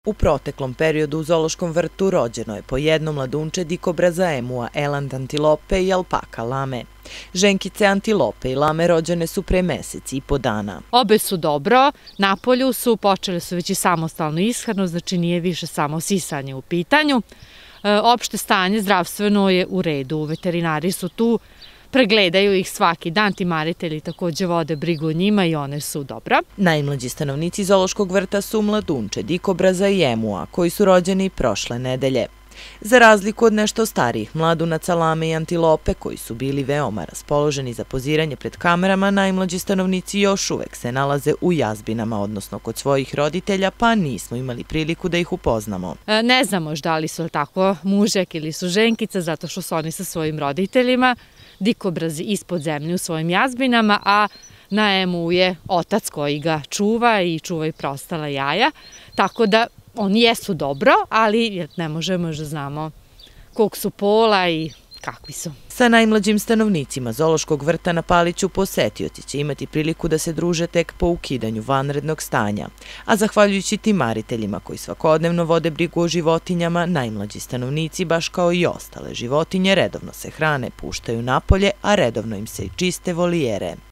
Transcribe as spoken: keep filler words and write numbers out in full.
U proteklom periodu u zoološkom vrtu rođeno je po jedno mladunče dikobraza emua, eland antilope i alpaka lame. Ženkice antilope i lame rođene su pre mesec i po dana. Obe su dobro, na polju su, počele su već i samostalnu ishranu, znači nije više samo sisanje u pitanju. E, opšte stanje zdravstveno je u redu, veterinari su tu, pregledaju ih svaki dan, timaritelji takođe vode brigu o njima i one su dobra. Najmlađi stanovnici zoološkog vrta su mladunče dikobraza i emua, koji su rođeni prošle nedelje. Za razliku od nešto starijih mladunaca lame i antilope, koji su bili veoma raspoloženi za poziranje pred kamerama, najmlađi stanovnici još uvek se nalaze u jazbinama, odnosno kod svojih roditelja, pa nismo imali priliku da ih upoznamo. E, ne znamo da li su tako mužek ili su ženkica, zato što su oni sa svojim roditeljima, dikobrazi ispod zemlje u svojim jazbinama, a na emu je otac koji ga čuva i čuva i preostala jaja, tako da oni jesu dobro, ali ne možemo da znamo kog su pola i kakvi su. Sa najmlađim stanovnicima zoološkog vrta na Paliću posetioci će imati priliku da se druže tek po ukidanju vanrednog stanja, a zahvaljujući timariteljima koji svakodnevno vode brigu o životinjama, najmlađi stanovnici, baš kao i ostale životinje, redovno se hrane, puštaju napolje, a redovno im se i čiste volijere.